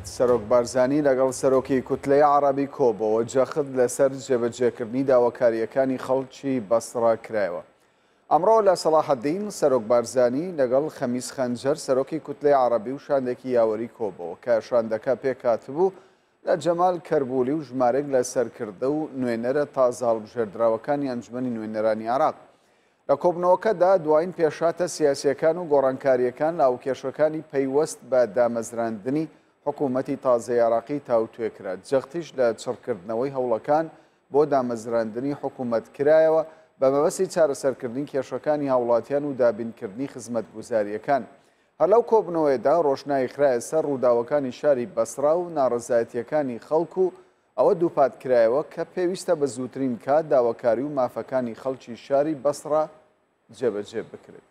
سەرۆک بارزانی لەگەڵ سەرۆکی کوتلەی عەڕەبی کۆبۆوە، جەخت لەسەر جێبەجێکردنی داواکارییەکانی خەڵکی بەسڕە کرایەوە. ئەمڕۆ لە سەڵاحەدین، سەرۆک بارزانی لەگەڵ خەمیس خەنجەر سەرۆکی کوتلەی عەڕەبی و شاندێکی یاوەری کۆبۆوە کە شاندەکە پێکهاتبوو لە جەمال کەربولی و ژمارێک لە سەرکردە و نوێنەرە تازە هەڵبژێردراوەکانی ئەنجومەنی نوێنەرانی عێراق. لە کۆبوونەوەکەدا دوایین پێشهاتە سیاسییەکان و گۆڕانکارییەکان لە هاوکێشەکانی پەیوەست بە دامەزراندنی حکوومەتی تازەی عێراقی تاوتوێ کرا، جەختیش لە چڕکردنەوەی هەوڵەکان بۆ دامەزراندنی حکوومەت کرایەوە بە مەبەستی چارەسەرکردنی کێشەکانی هاوڵاتیان و دابینکردنی خزمەتگوزارییەکان. هەر لەو کۆبوونەوەیەدا ڕۆشنایی خرایە سەر ڕووداوەکانی شاری بەسڕا و ناڕەزایەتییەکانی خەڵک و ئەوە دووپات کرایەوە کە پێویستە بە زووترین کات داواکاری و مافەکانی خەڵکی شاری بەسڕە جێبەجێ بکرێت.